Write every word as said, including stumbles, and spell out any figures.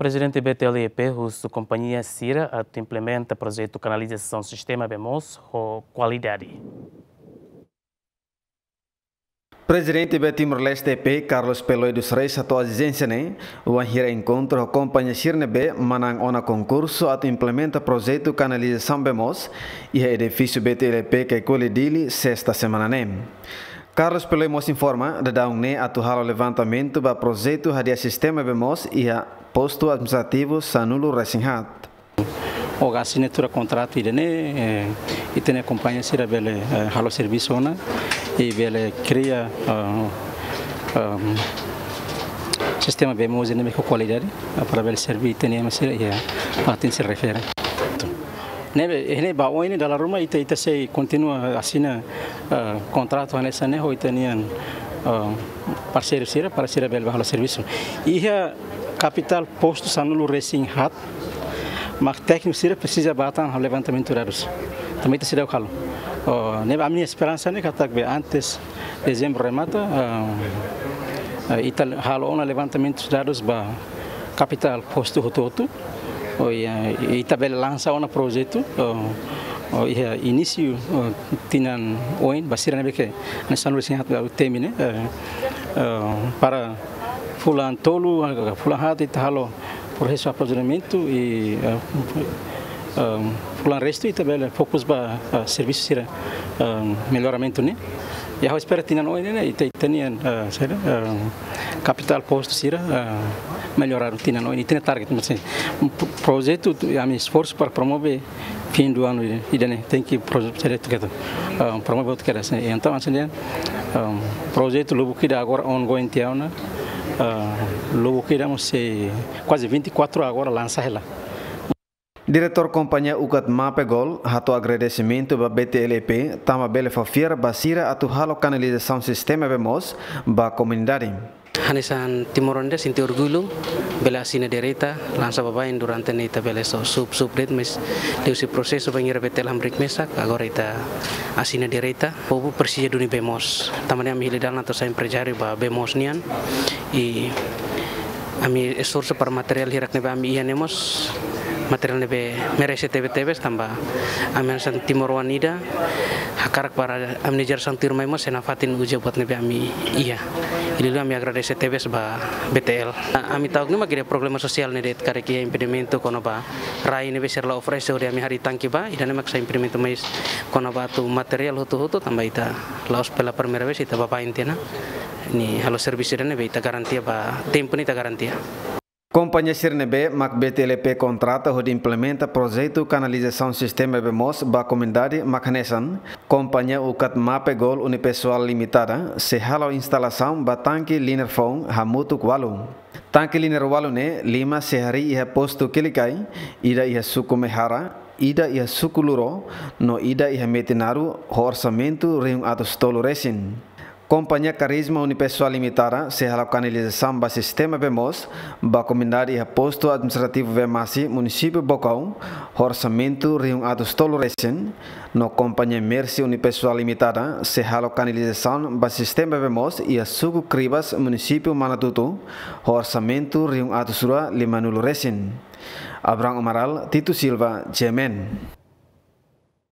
Prezidente B T L E P husu kompañia sira atu implementa projetu kanalizasaun sistema bee moos ho kualidade. Prezidente B Timor-Leste E P, Carlos Peloy dos Reis, hato'o ezijénsia ne'e wainhira enkontru ho kompañia sira ne'ebé manán ona konkursu atu implementa projetu kanalizasaun bee moos iha edifísiu B T L E P Caicoli, Dili, sesta semana ne'e. Carlos Peloy mós informa, daudaun ne'e atu halo levantamentu ba projetu hadi'a sistema bee moos iha postu administrativu sanulu-resin-haat. Ho asinatura kontratu ida-ne'e, eh, ita-nia kompañia sira bele, eh, halo servisu ona, i bele kria, ah, ehm, sistema bee moos ne'ebé ho kualidade, ah, para bele serve ita-nia ema sira iha fatin sira refere. Ne'ebé, eh, ne'e ba oin ne'e dala ruma ita, ita sei kontinua asina, ah, kontratu hanesan ne'e ho ita-nia, ah, parseiru sira, para sira bele halo servisu. Iha kapitál postu sanulu-resin-haat, mak tékniku sira presiza bá tan halo levantamentu dadus. Tanba ita seidauk halo. Oh, ne'e ami-nia esperansa ne'e katak be antes dezembru remata, ah, ah, ita halo ona levantamentu dadus ba kapitál postu hotu-hotu. Oh, i, ah, ita bele lansa ona projetu, oh, oh, iha inísiu, oh, tinan oin, ba sira ne'ebé ke, ne'e sanulu-resin-haat ba temi ne'e, eh, eh, para fulan tolu, fulan haat ita halo prosesu aprovizionamentu i, eh, eh, fulan restu ita bele fokus ba, eh, servisu sira, eh, melloramentu ne'e. I ha'u espera tinan oin ne'e ita, ita-nia, eh, saida, eh, kapitál postu sira, eh, melloradu tinan oin, ita-nia target, mas, eh, pro-, projetu, ami esforsu para promove fim do ano ida, ida-ne'e tenke projetu sira atu ketu, ah, promove atu kedas. Entaun, hanesan ne'e, ah, projetu lubuk ida agora ongoing tiha ona, ah, lubuk ida mós sei kuaze vinte e quatro agora lansa hela. Diretór kompañia UCAT MAPE Gol hato'o agradesimentu ba B T L E P, tanba bele fó fiar ba sira atu halo kanalizasaun sistema bee moos ba komunidade. Hanesan timoroan ida sente orgullu, bele asina direta, lansa baibain durante ne'e ita bele só sub-, sub de'it, mas liuhusi prosesu bainhira B T L hamriik mesak, agora ita asina direta. Povu presiza duni bee moos. Tanba ne'e ami hili dalan atu sai emprezáriu ba bee moos nian. I ami esforsu para materiál hirak ne'ebé ami iha ne'e mós, materiál ne'ebé merese tebe-tebes tanba ami hanesan timoroan ida hakarak para ami-nia jerasaun tuirmai mós sei nafatin uza buat ne'ebé ami iha. Liuliu ami agradese tebes ba B T L. Ami ta'uk ne'e mak iha problema sosiál ne'e de'it, karik iha impedimentu kona-ba rai ne'ebé sira la oferese hodi ami harii tanke ba, ida-ne'e mak sai impedimentu, mais kona-ba atu materiál hotu-hotu tanba ita la'ós pela primeira vez ita baibain tiha ona. Ne'e halo servisu ida ne'ebé ita garantia ba tempu ne'e ita garantia. Kompañia sira ne'ebé mak B T L E P kontrata hodi implementa projetu kanalizasaun sistema bee moos ba komunidade mak hanesan, kompañia UCAT MAPE Gol Unipessoal Limitada, sei halo instalasaun ba tanke linear foun hamutuk ualu. Tanke linear ualu ne'e, lima sei harii iha postu Quilicai, ida iha suku Mehara, ida iha suku Luro, no ida iha Metinaro, ho orsamentu rihun atus tolu resin. Kompañia Karisma Unipessoal Limitada sei halo kanalizasaun ba sistema bee moos ba komunidade iha postu administrativu Vemasi, munisípiu Baucau, ho orsamentu rihun atus tolu resin, no kompañia Mercy Unipessoal Limitada sei halo kanalizasaun ba sistema bee moos iha suku Cribas, munisípiu Manatuto, ho orsamentu rihun atus rua limanulu resin. Abraham Amaral, Tito Silva, G M N.